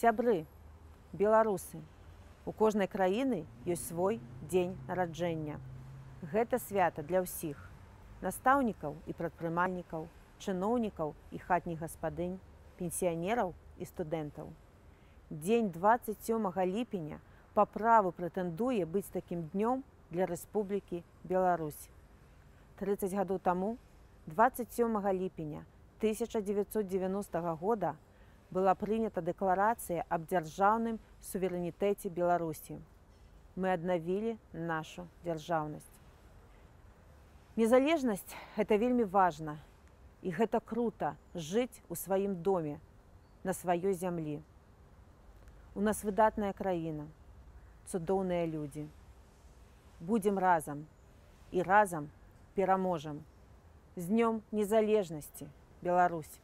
Сябры, беларусы, у кожнай краіны ёсць свой дзень нараджэння. Гэта свята для ўсіх настаўнікаў і прадпрымальнікаў, чыноўнікаў і хатніх гаспадынь, пенсіянераў і студэнтаў. Дзень 27 ліпеня па праву прэтэндуе быць такім днём для Рэспублікі Беларусь. 30 гадоў таму, 27 ліпеня 1990 года, была прынята дэкларацыя аб дзяржаўным суверэнітэце Беларусі. Мы аднавілі нашу дзяржаўнасць. Незалежнасць – гэта вельмі важна, і гэта крута жыць у сваім доме, на сваёй зямлі. У нас выдатная краіна, цудоўныя людзі. Будзем разам, і разам пераможам. З днём незалежнасці, Беларусь!